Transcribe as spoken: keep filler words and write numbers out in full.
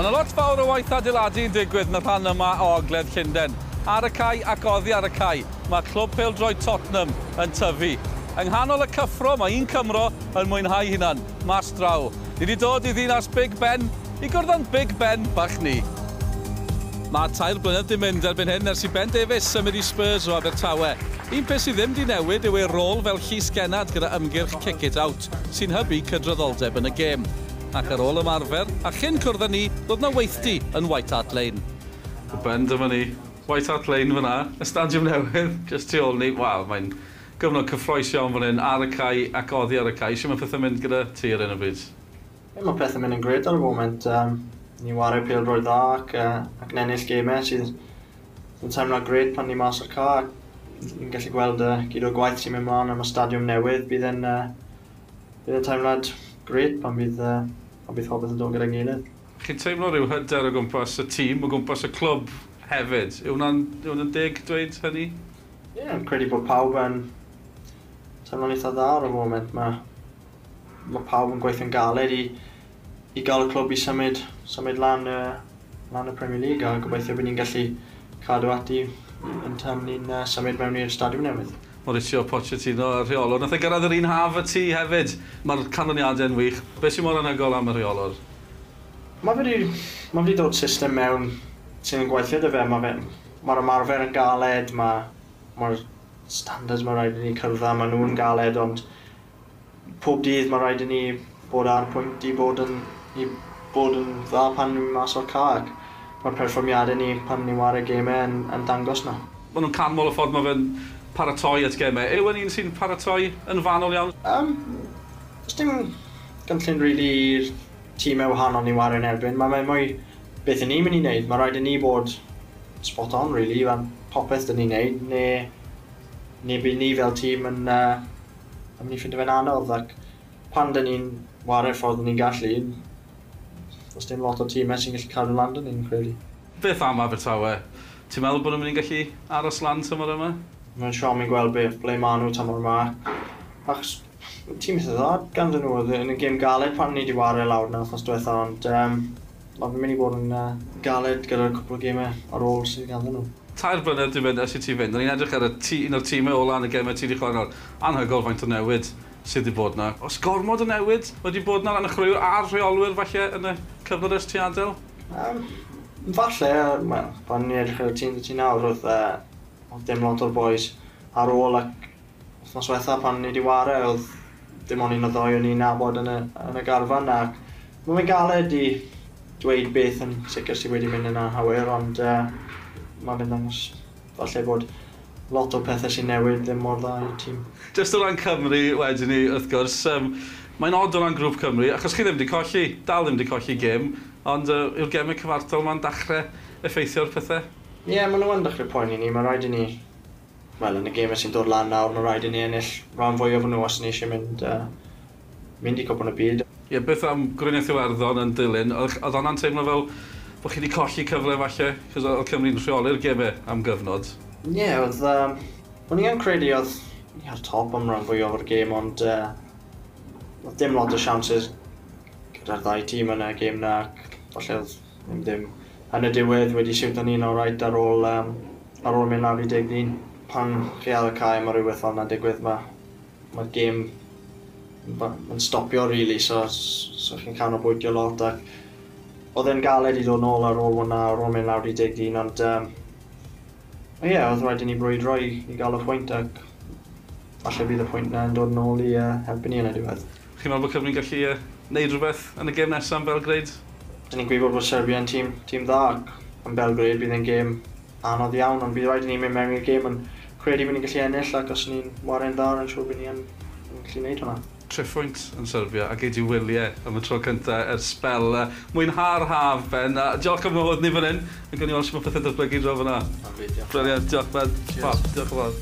Mae yna lot fawr o waith adeiladu yn digwydd yn y rhan yma o Ogledd Llundain. Ar y cae ac oddi ar y cae, mae clwb pêl-droed Tottenham yn tyfu. Yng nghanol y cyffro mae un Cymro yn mwynhau hunan, mas draw. Ni wedi dod i ddinas Big Ben i gwrdd â'n Big Ben bach ni. Mae tair blynedd 'di mynd erbyn hyn ers i Ben Davies symud i Spurs o Abertawe. Un peth sydd ddim 'di newid yw ei rôl fel llysgennad gyda ymgyrch Kick It Out, sy'n hybu cydraddoldeb yn y gêm. Ac ar ôl ymarfer, a chyn cwrdd â ni, roedd 'na weithdy yn White Hart Lane. Ben, dyma ni. White Hart Lane fyna, y stadiwm newydd, just tu ôl ni. Waw, mae'n gyfnod cyffrous iawn fan hyn, ar y cae ac oddi ar y cae. Sut mae pethau'n mynd gyda ti ar hyn o bryd? Ie, mae pethau'n mynd yn grêt ar y foment. Um, ni whare pêl-droed dda ac, uh, ac yn ennill gemau sydd yn teimlo grêt pan ni mas o'r cae. Ni'n gallu gweld uh, gyd o'r gwaith sy'n mynd mlaen am y stadiwm newydd. Bydd yn, uh, bydd yn teimlad grêt pan bydd, uh, pan bydd popeth yn dod gyda'i gilydd. Chi'n teimlo rhyw hyder o gwmpas y tîm, o gwmpas y clwb hefyd? Yw hwnna'n yw hwnna'n deg dweud hynny? Ie, yeah, yn credu bod pawb yn teimlo'n eitha dda ar y foment. Mae, mae pawb yn gweithio'n galed i, i gael y clwb i symud, symud lan, uh, lan y Premier League, a gobeithio bod ni'n gallu cadw ati yn tan ni'n uh, symud mewn i'r stadiwm newydd. Mauricio Pochettino, y rheolwr. Nath e gyrraedd yr un haf â ti hefyd. Mae'r canlyniadau'n wych. Be sy'n mor anhygoel am y rheolwr? Mae wedi, mae wedi dod system mewn sy'n gweithio 'da fe. Mae fe, mae'r ymarfer yn galed, mae'r mae standards mae rhaid i ni cyrraedd, mae nhw'n galed, ond pob dydd mae rhaid i ni bod ar pwynt i bod yn, i bod yn dda pan ni'n mas o'r cae. Mae'r perfformiadau ni pan ni'n whare gemau yn, yn dangos na. Maen nhw'n canmol y ffordd mae fe'n paratoi at gemau. Yw e'n un sy'n paratoi yn fanwl iawn? Um, does dim gynllun really i'r tîmau wahanol ni'n whare yn erbyn. Mae mae mwy beth ni'n mynd i wneud. Mae rhaid i ni bod spot on, really, fan popeth dyn ni'n wneud, neu, neu bydd ni fel tîm yn, uh, yn mynd i ffindo fe'n anodd. Ac pan dyn ni'n whare ffordd ni'n gallu, does dim lot o tîmau sy'n gallu cadw lan 'da ni'n credu. Beth am Abertawe? Ti'n meddwl bod nhw'n mynd i gallu aros lan tymor yma? Mae'n siom i gweld beth ble maen nhw tymor yma. Achos tîm eitha dda ganddyn nhw, oedd yn y gêm galed pan ni wedi whare lawr na wythnos diwetha, ond um, mae'n mynd i bod yn uh, galed gyda'r cwpl o gemau ar ôl sydd ganddyn nhw. Tair blynedd dwi'n mynd ers i ti fynd. O'n i'n edrych ar y tî, un o'r tîmau ola yn y gemau ti wedi chwarae nawr. Anhygoel faint o newid sydd wedi bod na. Oes gormod o newid wedi bod na ran y chwaraewyr a'r rheolwyr falle yn y cyfnod ers ti adael? Um, falle, wel, pan ni'n edrych ar y tîm ti nawr, oedd, uh, oedd dim lot o'r boys ar ôl, ac wythnos diwetha pan ni wedi whare, oedd dim ond un o ddoi o'n i'n nabod yn y, yn y garfan, ac mae'n galed i dweud beth yn sicr sydd wedi mynd yn anghywir, ond uh, mae'n mynd dangos falle bod lot o pethau sy'n newid ddim mor dda i'r tîm. Just o ran Cymru wedyn ni, wrth gwrs, um, mae'n od o ran grŵp Cymru, achos chi ddim wedi colli, dal ddim wedi colli gêm, ond uh, yw'r gemau cyfartal ma'n dechrau effeithio'r pethau? Ie, yeah, maen nhw yn dechrau poeni ni. Mae rhaid i ni, wel, yn y gemau sy'n dod lan nawr, mae rhaid i ni ennill rhan fwyaf o nhw os ni eisiau mynd, uh, mynd i Cwpan y Byd. Ie, yeah, beth am Gweriniaeth Iwerddon yn dilyn? Oedd oedd hwnna'n teimlo fel bod chi wedi colli cyfle falle? Cos oedd Cymru'n rheoli'r gemau am gyfnod. Ie, yeah, oedd... Um, o'n i yn credu oedd ni ar top am rhan fwyaf o'r gêm, ond uh, oedd dim lot o chances gyda'r ddau tîm yn y gêm na, ac falle oedd ddim, ddim yn y diwedd wedi siwto ni'n alright ar ôl, um, ar ôl mynd lawr i deg dyn. Pan chi ar y cae mae rhywbeth fel yna'n digwydd, mae mae'r gêm yn stopio really, so, so chi'n canolbwyntio lot, ac oedd e'n galed i dod nôl ar ôl hwnna, ar ôl mynd lawr i deg dyn, ond um, ie, yeah, oedd rhaid i ni brwydro i, i gael y pwynt, ac falle bydd y pwynt na yn dod nôl i uh, helpu ni yn y diwedd. Chi'n meddwl bod Cymru'n gallu uh, neud rhywbeth yn y gêm nesaf yn Belgrade? Dyn ni'n gwybod bod Serbia yn tîm, tîm dda, ac yn Belgrade bydd e'n gêm anodd iawn, ond bydd rhaid i ni mynd mewn i'r gêm yn credu bod ni'n gallu ennill, ac os ni'n whare'n dda, yn siŵr bod ni'n gallu neud hwnna. Triphwynt yn Serbia a gei di wyliau am y tro cyntaf ers sbel. Mwynha'r haf, Ben. A diolch am fod ni fan hyn. A gawn ni weld sut mae pethau'n datblygu draw fan'na. Brilliant, diolch Ben. Fab, diolch yn fawr.